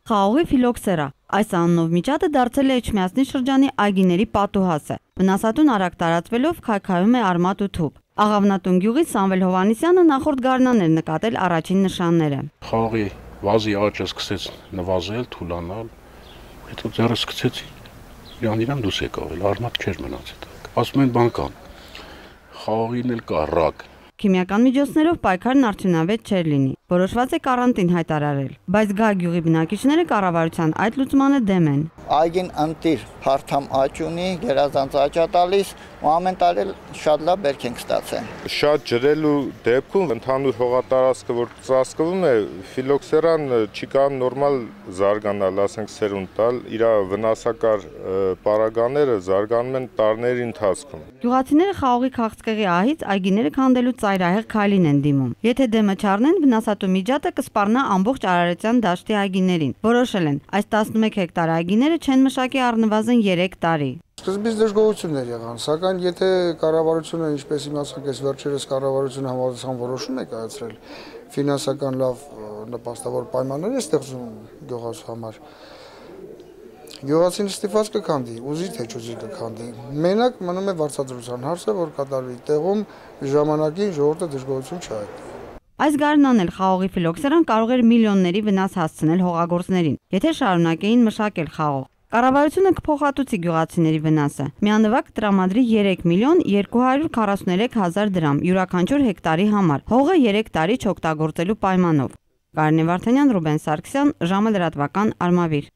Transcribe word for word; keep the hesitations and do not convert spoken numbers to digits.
Խաղողի ֆիլոքսերա։ Այս անունով միջատը դարձել է Էջմիածնի շրջանի այգիների պատուհասը։ Վնասատուն արագ տարածվելով քայքայում է արմատ ու թուփ։ Աղավնատուն գյուղի Սամվել Հովհաննիսյանը նախորդ գարնան էր նկատել առաջին նշանները։ Խաղողի վազի աճը սկսեց նվազել, թուլանալ, հետո ձեռը սկսեցի իրան իրան դուրս եկավ, արմատ չէր մնացել։ Ասում են բան կան։ Խաղողին էլ կա ռակ։ Քիմիական միջոցներով պայքարն արդյունավետ չէր լինի։ Որոշված է կարանտին հայտարարել, բայց Գա գյուղի բնակիչները կառավարության այդ լուծմանը դեմ են։ Այգին ընտիր հարթամ աճ ունի, գերազանց աճ է տալիս, ու ամեն տարի շատ լավ բերք ենք ստացել։ Շատ ջրելու դեպքում ընդհանուր հողատարածքը, որ ծածկվում է, ֆիլոքսերան չի կարող նորմալ զարգանալ, ասենք սերունդ տալ, իր վնասակար պարագաները զարգանում են տարիների ընթացքում։ Գյուղացիները խաղողի քաղցկեղի ահից այգիները քանդելու ծայրահեղ քայլին են դիմում։ Եթե դեմը չառնեն, վնասատու միջատը կսպառնա ամբողջ Արարատյան դաշտի այգիներին։ Որոշել են, այս տասնմեկ հեկտար այգիները չեն մշակի առնվազն երեք տարի։ Սկզբից դժգոհություններ եղան, սակայն եթե կառավարությունը, ինչպես իմացանք, այս վերջերս կառավարությունը համապատասխան որոշում է կայացրել, ֆինանսական լավ նպաստավոր պայմաններ է ստեղծում գյուղացու համար, գյուղացին ստիպված կքանդի, ուզի թե չուզի կքանդի։ Մենակ մնում է վարձատրության հարցը, որ կատարվի տեղում ժամանակին ժողովուրդը դժգոհություն չհայտնի։ Այս գարնան էլ խաղողի ֆիլոքսերան կարող էր միլիոնների վնաս հասցնել հողագործներին, եթե շարունակեին մշակել խաղող։ Կառավարությունը կփոխհատուցի գյուղացիների վնասը։ Միանվագ տրամադրի երեք միլիոն երկու հարյուր քառասուներեք հազար դրամ յուրաքանչյուր հեկտարի համար, հողը երեք տարի չօգտագործելու պայմանով։ Կարինե Վարդանյան, Ռուբեն Սարգսյան, ժամը լրատվական, Արմավիր։